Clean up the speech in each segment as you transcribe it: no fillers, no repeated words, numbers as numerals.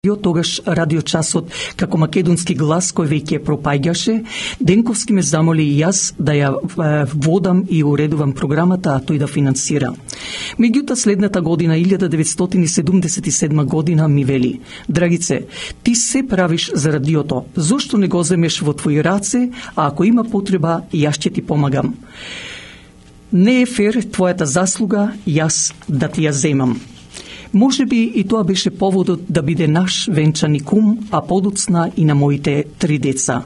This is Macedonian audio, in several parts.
Тогаш радиочасот како македонски глас кој веќе пропаѓаше, Денковски ме замоли и јас да ја водам и уредувам програмата, а тој да финансира. Меѓутоа следната година, 1977 година, ми вели: Драгице, ти се правиш за радиото, зошто не го земеш во твои раце, а ако има потреба, јас ќе ти помагам. Не е фер твојата заслуга јас да ти ја земам. Може би и тоа беше поводот да биде наш венчани кум, а подоцна и на моите 3 деца.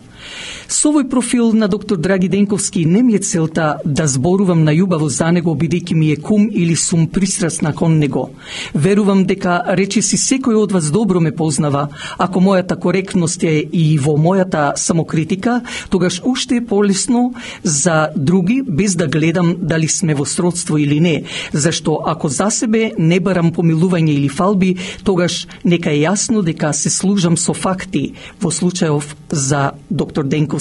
Со овој профил на доктор Драги Денковски не ми е целта да зборувам најубаво за него, бидејќи ми е кум или сум пристрасна кон него. Верувам дека речиси секој од вас добро ме познава. Ако мојата коректност е и во мојата самокритика, тогаш уште е полесно за други, без да гледам дали сме во сродство или не. Зашто ако за себе не барам помилување или фалби, тогаш нека е јасно дека се служам со факти во случајов за доктор Денковски.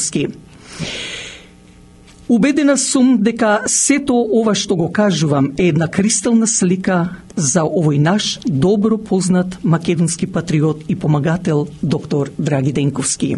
Убедена сум дека сето ова што го кажувам е една кристална слика за овој наш добро познат македонски патриот и помагател доктор Драги Денковски.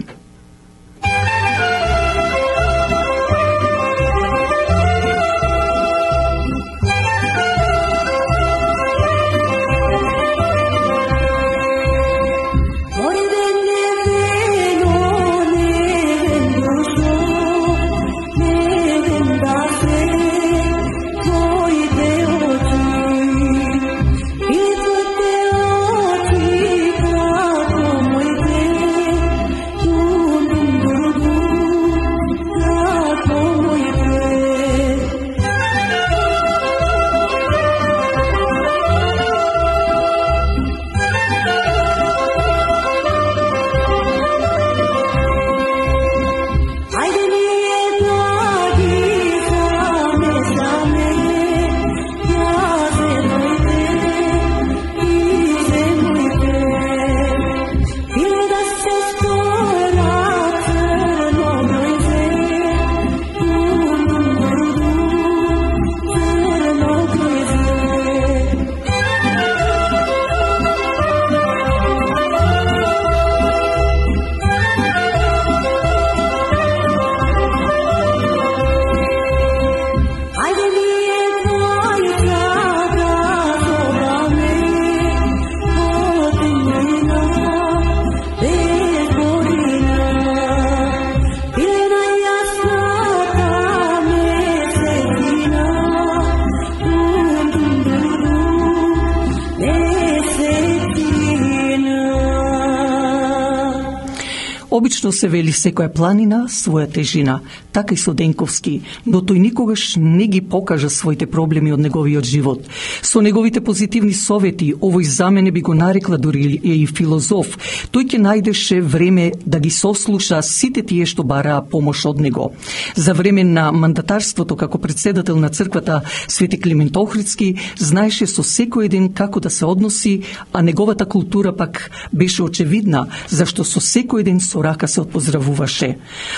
Обично се вели секоја планина своја тежина, така и со Денковски, но тој никогаш не ги покажа своите проблеми од неговиот живот. Со неговите позитивни совети, овој за мене би го нарекла дури и филозоф, тој ќе најдеше време да ги сослуша сите тие што бараа помош од него. За време на мандатарството како председател на црквата Свети Климент Охридски, знаеше со секој еден како да се односи, а неговата култура пак беше очевидна, зашто со секој еден со рака се отпоздравуваше.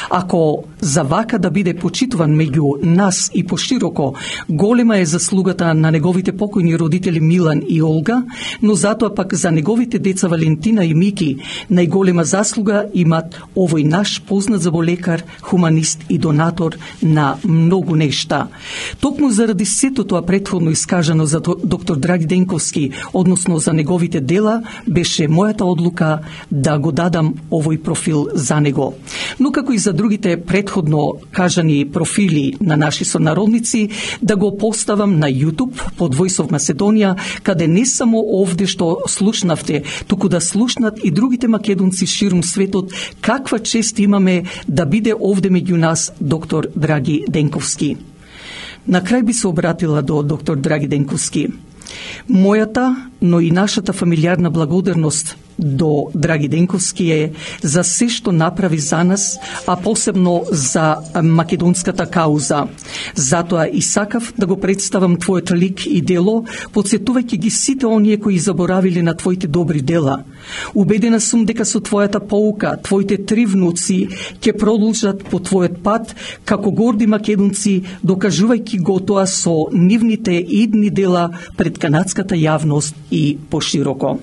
Ако за вака да биде почитуван меѓу нас и пошироко, голема е заслугата на неговите покојни родители Милан и Олга, но затоа пак за неговите деца Валентина и Мики најголема заслуга имат овој наш познат заболекар, хуманист и донатор на многу нешта. Токму заради сето тоа претходно искажано за доктор Драги Денковски, односно за неговите дела, беше мојата одлука да го дадам овој профил за него. Но како и за другите претходно кажани профили на наши сонародници, да го поставам на YouTube под Voice of Macedonia, каде не само овде што слушнавте, туку да слушнат и другите македонци ширум светот каква чест имаме да биде овде меѓу нас доктор Драги Денковски. На крај би се обратила до доктор Драги Денковски. Мојата, но и нашата фамилиарна благодарност до Драги Денковски е за се што направи за нас, а посебно за македонската кауза. Затоа и сакав да го представам твојот лик и дело, подсетувајќи ги сите оние кои заборавиле на твоите добри дела. Убедена сум дека со твојата поука, твоите 3 внуци ќе продолжат по твојот пат како горди македонци, докажувајќи го тоа со нивните идни дела пред канадската јавност и пошироко.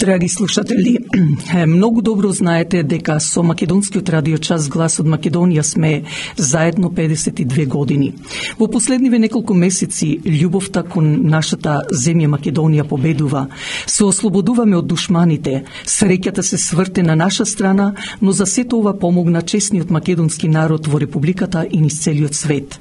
Драги слушатели, многу добро знаете дека со Македонскиот радио час Глас од Македонија сме заедно 52 години. Во последниве неколку месеци љубовта кон нашата земја Македонија победува. Се ослободуваме од душманите, среќата се сврте на наша страна, но за сето ова помогна честниот македонски народ во Републиката и низ целиот свет.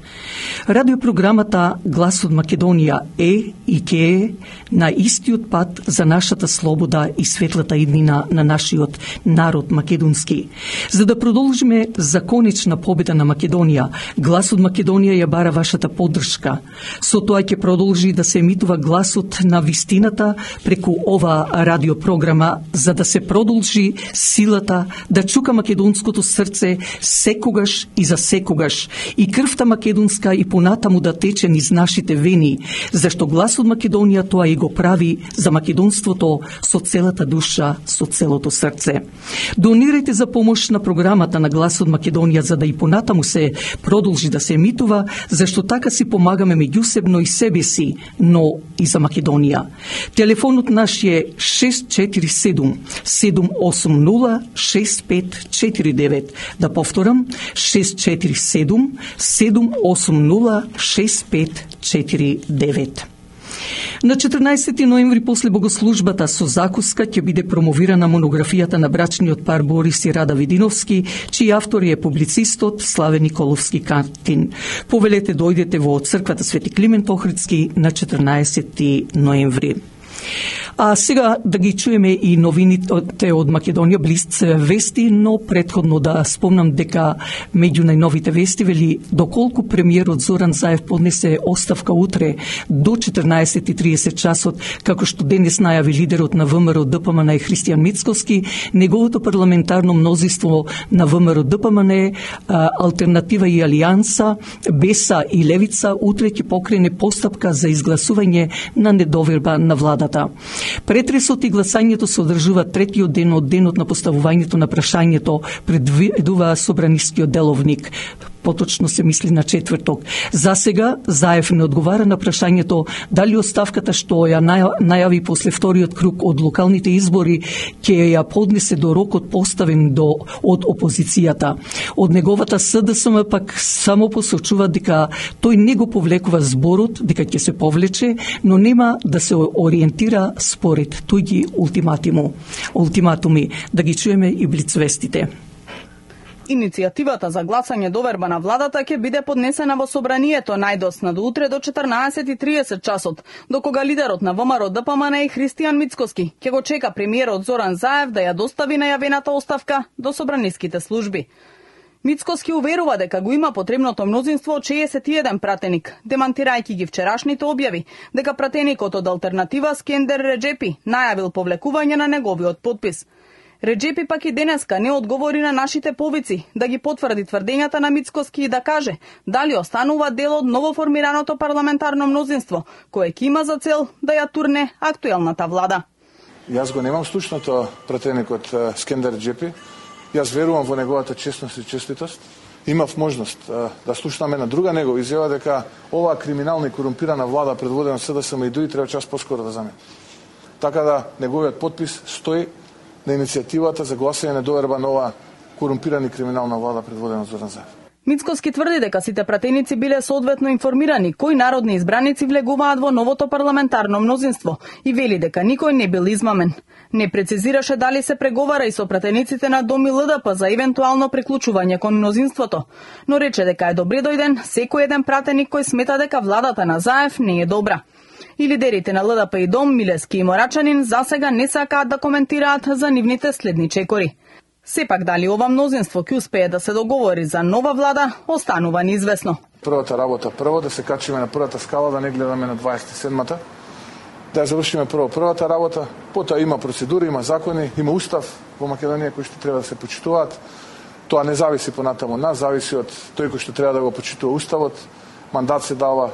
Радиопрограмата Глас од Македонија е и ќе е на истиот пат за нашата слобода и светлата иднина на нашиот народ македонски. За да продолжиме за конечна победа на Македонија, Глас од Македонија ја бара вашата поддршка. Со тоа ќе продолжи да се емитува гласот на вистината преку ова радиопрограма, за да се продолжи силата да чука македонското срце секогаш и за секогаш, и крвта македонска и понатаму да тече низ нашите вени, зашто Глас од Македонија тоа и го прави за македонството со целата душа, со целото срце. Донирајте за помош на програмата на Глас од Македонија, за да и понатаму се продолжи да се емитува, зашто така си помагаме меѓусебно и себе си, но и за Македонија. Телефонот наш е 647 780 6549. Да повторам, 647 780 6549. На 14 ноември после богослужбата со закуска ќе биде промовирана монографијата на брачниот пар Борис и Рада Видиновски, чиј автор е публицистот Славе Николовски Катин. Повелете дојдете во црквата Свети Климент Охридски на 14 ноември. А сега да ги чуеме и новините од Македонија, Блиц вести, но предходно да спомнам дека меѓу најновите вести вели доколку премиерот Зоран Заев поднесе оставка утре до 14:30 часот, како што денес најави лидерот на ВМРО ДПМН е Христијан Мицковски, неговото парламентарно мнозинство на ВМРО ДПМН, Алтернатива и Алијанса, Беса и Левица утре ќе покрене постапка за изгласување на недоверба на владата. Претресот и гласањето се одржува третиот ден од денот на поставувањето на прашањето, предвидува Собранискиот деловник. поточно се мисли на четврток. За сега Заев не одговара на прашањето дали оставката што ја најави после вториот круг од локалните избори ќе ја поднесе до рокот поставен од опозицијата. Од неговата СДСМ пак само посочува дека тој не го повлекува зборот дека ќе се повлече, но нема да се ориентира според туѓи ултиматуми. Да ги чуеме и блицвестите. Иницијативата за гласање доверба на владата ќе биде поднесена во собранието најдосна до утре до 14:30 часот, докога лидерот на ВМРО ДПМН и Христијан Мицкоски ќе го чека премиерот Зоран Заев да ја достави најавената оставка до собраниските служби. Мицкоски уверува дека го има потребното мнозинство од 61 пратеник, демантирајќи ги вчерашните објави дека пратеникот од Алтернатива Скендер Реджепи најавил повлекување на неговиот подпис. Реджепи пак и денеска не одговори на нашите повици да ги потврди тврдењата на Мицкоски и да каже дали останува дел од новоформираното парламентарно мнозинство, кое ќе има за цел да ја турне актуелната влада. Јас го немам слушното пратеникот Скендер Реджепи. Јас верувам во неговата честност и честитост. Имав можност да слушнам една друга негова изјава дека оваа криминална и корумпирана влада предводена од СДСМ и ДУИ треба час поскоро да замине. Така да неговиот подпис стои на иницијативата за гласање на доверба на оваа корумпирана и криминална влада предводена од Зоран Заев. Мицкоски тврди дека сите пратеници биле соодветно информирани кои народни избраници влегуваат во новото парламентарно мнозинство и вели дека никој не бил измамен. Не прецизираше дали се преговара и со пратениците на ДОМ и ЛДП за евентуално приклучување кон мнозинството, но рече дека е добре дојден секој еден пратеник кој смета дека владата на Заев не е добра. И лидерите на ЛДП и ДОМ, Милески и Морачанин, засега не сакаат да коментираат за нивните следни чекори. Сепак дали ова мнозинство ќе успее да се договори за нова влада, останува неизвестно. Првата работа прво да се качиме на првата скала, да не гледаме на 27-та. Да ја завршиме првата работа, потоа има процедури, има закони, има устав во Македонија кои што треба да се почитуваат. Тоа не зависи понатаму од нас, зависи од тој кој што треба да го почитува уставот. Мандат се дава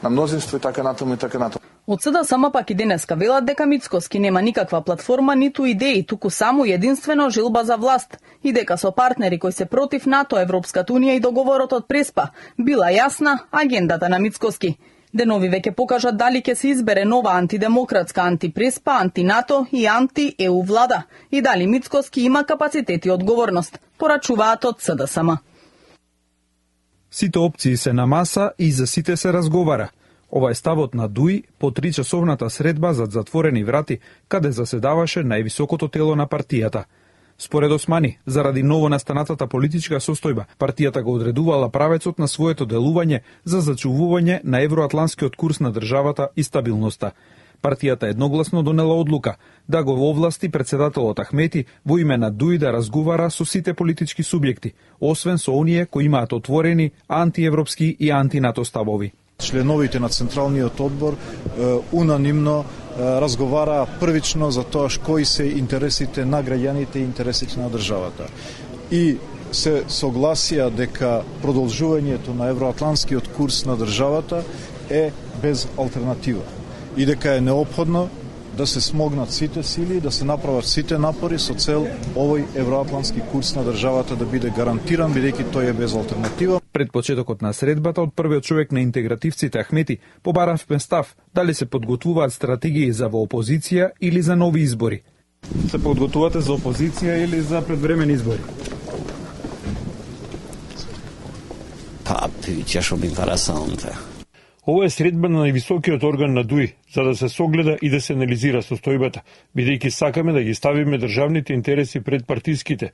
на мнозинство и така натаму и така натаму. Од СДСМ пак и денеска велат дека Мицкоски нема никаква платформа ниту идеи, туку само единствено жилба за власт и дека со партнери кои се против НАТО, Европската унија и договорот од Преспа била јасна агендата на Мицкоски. Денови веќе покажат дали ќе се избере нова антидемократска, антипреспа, антинато и анти-ЕУ влада и дали Мицкоски има капацитет и одговорност, порачуваат од СДСМ. Сите опции се на маса и за сите се разговара. Ова е ставот на ДУИ по 3-часовната средба зад затворени врати, каде заседаваше највисокото тело на партијата. Според Османи, заради новонастанатата политичка состојба, партијата го одредувала правецот на своето делување за зачувување на евроатланскиот курс на државата и стабилноста. Партијата едногласно донела одлука да го овласти председателот Ахмети во име на ДУИ да разговара со сите политички субјекти, освен со оние кои имаат отворени антиевропски и антинато ставови. Членовите на Централниот одбор унанимно разговараа првично за тоа кои се интересите на граѓаните и интересите на државата. И се согласија дека продолжувањето на евроатланскиот курс на државата е без алтернатива и дека е неопходно да се смогнат сите сили, да се направат сите напори со цел овој евроатлански курс на државата да биде гарантиран, бидејќи тој е без алтернатива. Пред почетокот на средбата од првиот човек на интегративците Ахмети побаравме став дали се подготвуваат стратегии за во опозиција или за нови избори. Се подготвувате за опозиција или за предвремени избори? Па, пиќаш интересанте. Ова е средба на највисокиот орган на ДУИ, за да се согледа и да се анализира состојбата, бидејќи сакаме да ги ставиме државните интереси пред партиските